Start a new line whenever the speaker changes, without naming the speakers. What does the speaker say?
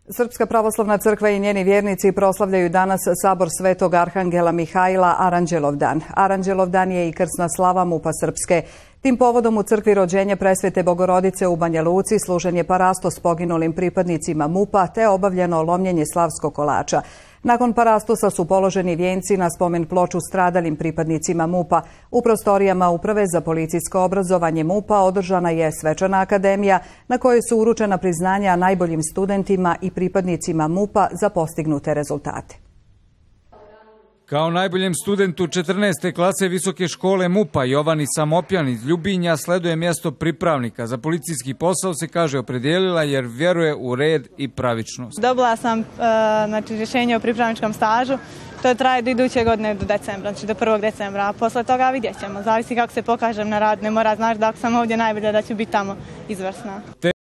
Srpska pravoslavna crkva i njeni vjernici proslavljaju danas sabor Svetog Arhangela Mihajla Aranđelovdan. Aranđelovdan je i krsna slava MUP-a Srpske. Tim povodom u crkvi Rođenje Presvete Bogorodice u Banja Luci služen je parastos poginulim pripadnicima MUP-a te obavljeno lomljenje slavskog kolača. Nakon parastosa su položeni vijenci na spomen ploču stradalim pripadnicima MUP-a. U prostorijama Uprave za policijsko obrazovanje MUP-a održana je svečana akademija na kojoj su uručena priznanja najboljim studentima i pripadnicima MUP-a za postignute rezultate.
Kao najboljem studentu 14. klase Visoke škole MUP-a Jovani Samopjan iz Ljubinja sleduje mjesto pripravnika. Za policijski posao se, kaže, opredijelila jer vjeruje u red i pravičnost.
Dobila sam rješenje o pripravničkom stažu. To traje do iduće godine, do decembra, znači do 1. decembra. A posle toga vidjet ćemo. Zavisi kako se pokažem na rad. Ne mora znaš da ako sam ovdje najbolja da ću biti tamo izvrsna.